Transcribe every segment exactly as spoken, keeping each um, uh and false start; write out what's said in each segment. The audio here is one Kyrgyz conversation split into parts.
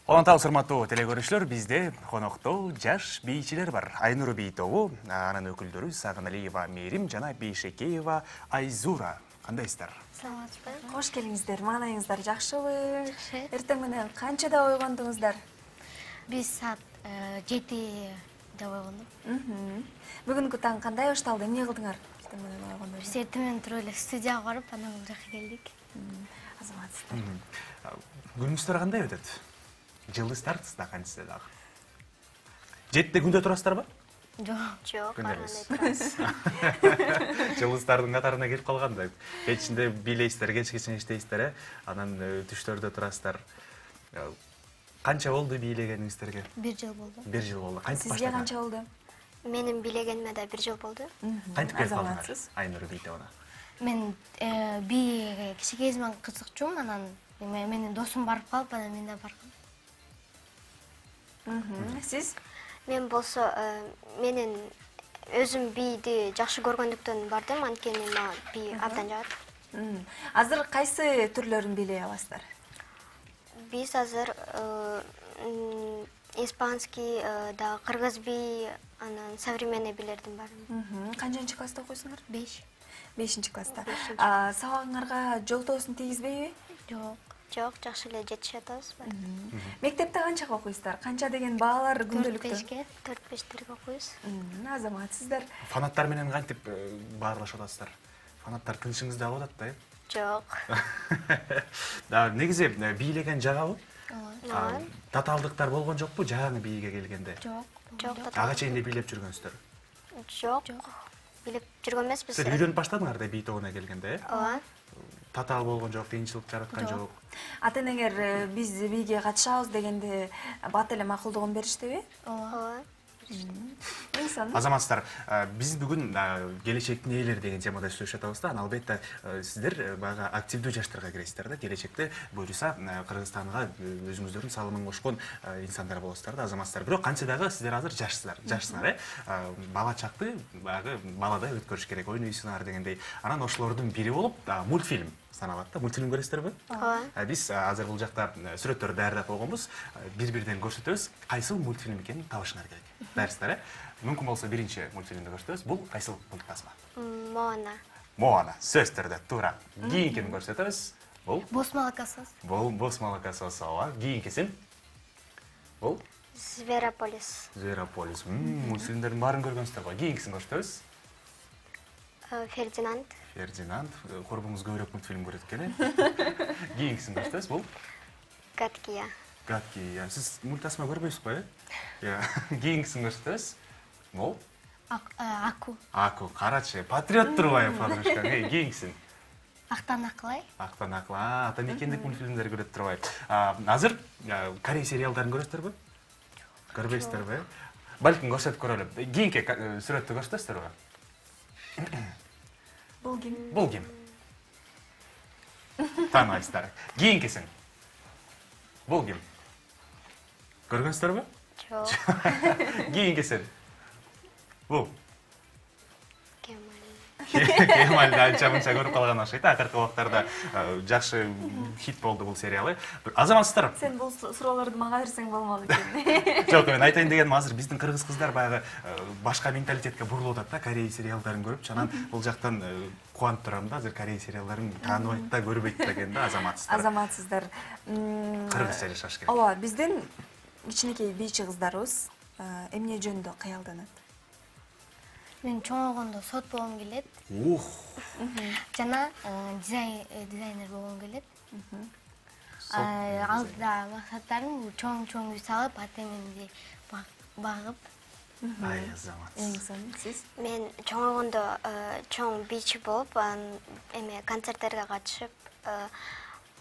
Улантау урматтуу телекөрүүчүлөр, бизде конокто жаш бийчилер бар. Айнур бий тобу, анын өкүлдөрү Сагыналиева Мерим жана Бейшекеева Айзура. Кандайсыздар? Саламатсызбы? Кош келиңиздер. Маанайыңыздар жакшыбы? Жакшы. Эртең менен канчада ойгондуңуздар? Биз саат жетиде ойгондук. Бүгүнкү таң кандай башталды? Эмне кылдыңар? Эртең менен ойгондо. Биз эртең менен туруп эле студияга барып, анан бул жака келдик. Азаматсыздар. Күнүңүздөр кандай өтөт? Жылдыздарсыз да кантсе дагы. Жетиде күндө турасыздарбы? Жок. Жок, Күндө баргандай эмес. турабыз. Жылдыздардын катарына келип калгандай. Кечинде бийлейсиздер, кечкече иштейсиздер, э? Анан түштөрдө турасыздар. Канча болду бийлегениңиздерге? Бир жыл болду. Бир жыл болду. Кантип Сизге баштадыңар? канча болду? Менин бийлегениме да бир жыл болду. Кантип келип калдыңар? Азаматсыз. Айнур бий тобуна. Мен бийге кичине кезимден кызыкчумун, анан менин досум барып калып, анан мен да баргам. Сиз? Мен болсо менин өзүм бийди жакшы көргөндүктөн бардым, анткени мага бий абдан жагат. Азыр кайсы түрлөрүн бийлей аласыздар? Биз азыр испанский, дагы кыргыз бий, анан современный бийлердин баарын. Канчанчы класста окуйсуңар? беш. бешинчи класста. Бешинчи. Сабагыңарга жол тоосун тийгизбейби? Жок. Жок, жакшы эле жетишип атабыз. Мектепте канчага окуйсуздар? Канча деген баалар төрт күндөлүктө? бешке. төрт бештерге окуйбуз. Азаматсыздар. Фанаттар менен кантип баарлашып атасыздар? Фанаттар тынчыңызды алып атат да, э? Жок. Да, негизи бийлеген жагабы? Ооба. Татаалдыктар болгон жокпу жаңы бийге келгенде? Жок. Жок, Ага чейин эле бийлеп жүргөнсүздөр. Жок. Билип жүргөн эмеспиз. Силер үйрөнүп баштадыңар да бий тобуна келгенде, э? Ооба. Татаал болгон жок, кыйынчылык жараткан Жок. жок. Ата-энеңер биз бийге катышабыз дегенде бат эле макулдугун бериштиби? Ооба. Инсан. Азаматсыздар, биз бүгүн келечектин ээлери деген темада сүйлөшүп атабыз да. Албетте сиздер баягы активдүү жаштарга киресиздер да. Келечекте буюрса Кыргызстанга өзүңүздөрдүн салымын кошкон инсандар болосуздар да, азаматсыздар. Бирок кантсе дагы сиздер азыр жашсыздар, жашсыңар, э? Бала чакты баягы баладай өткөрүш керек, ойнойсуңар дегендей. Анан ошолордун бири болуп мультфильм саналат да. Мультфильм көрөсүздөрбү? Ооба. Биз азыр бул жакта сүрөттөрдү даярдап койгонбуз. Бири-бирден көрсөтөбүз. Кайсыл мультфильм экенин табышыңар керек. Дайырсыздар, э? Мүмкүн болсо биринчи мультфильмди көрсөтөбүз. Бул кайсыл мультфильм? Моана. Моана. Сөз түрдө туура. Кийинкини көрсөтөбүз. Бул Бос молокосоз. Бул бос молокосоз, ооба. Кийинкисин? Бул Зверополис. Зверополис. Мультфильмдердин баарын көргөнсүздөр го. Кийинкисин көрсөтөбүз. Фердинанд. Фердинанд. Корбуңуз көбүрөөк мультфильм көрөт экен, э? Кийинкисин көрсөтөбүз. Бул Гадкия. Гадкия. Сиз мультасма көрбөйсүз го, э? Я. Кийинкисин көрсөтөбүз. Бул Аку. Аку. Карачы, патриот турбайбы, подружка? Эй, кийинкисин. Актан акылай. Актан акыл. Ата мекендик мультфильмдер көрөт турбайбы. Азыр Корей сериалдарын көрөсүздөрбү? Көрбөйсүздөрбү, э? Балким көрсөтүп көрөлү. Кийинки сүрөттү көрсөтөсүздөрбү? Бул ким? Бул ким? Тааныбайсыздар. Кийинкисин. Бул ким? Көргөнсүздөрбү? Жок. Кийинкисин. Бул Кемаль. Кемалды анча-мынча көрүп калган окшойт. Акыркы убактарда жакшы хит болду бул сериал. Азаматсыздар. Сен бул суроолорду мага берсең болмок экен. Жок, мен айтайын дегеним азыр биздин кыргыз кыздар баягы башка менталитетке бурулуп атат да, Корей сериалдарын көрүп, анан бул жактан кубанып турам да, азыр Корей сериалдарын тааныбайт да, көрбөйт да экен да, азаматсыздар. Азаматсыздар. Кыргызча жашаш керек. Ооба, биздин кичинекей бийчи кыздарыбыз эмне жөнүндө кыялданат? Мен чоңойгондо сот болгум келет. Ух. Жана дизайнер болгум келет. Алдыда максаттарым чоң-чоң үй салып, ата-энемди багып. Ай, азамат. Инсан, сиз? Мен чоңойгондо чоң бийчи болуп, эме концерттерге катышып,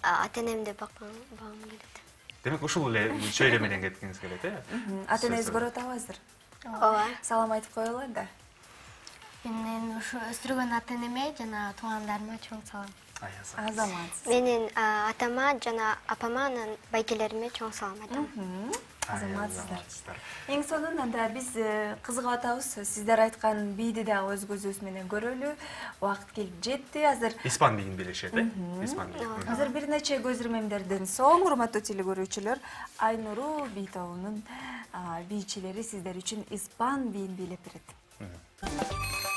ата-энемди багым келет. Демек ушул эле чөйрө менен кеткиңиз келет, э? Ата-энеңиз көрүп атабызыр? Ооба. Салам айтып коелу да. Мен ушу өстүргөн ата-энеме жана туугандарыма чоң салам. Ай, азамат. Азаматсыз. Менин атама жана апама, анан байкелериме чоң салам айтам. Азаматсыздар. Эң сонун анда биз кызыгып атабыз. Сиздер айткан бийди дагы өз көзүбүз менен көрөлү. Убакыт келип жетти. Азыр испан бийин билишет, э? Испан бийин. Азыр бир нече көз ирмемдерден соң, урматтуу телекөрүүчүлөр, Айнуру бий тобунун бийчилери сиздер үчүн испан бийин бийлеп берет.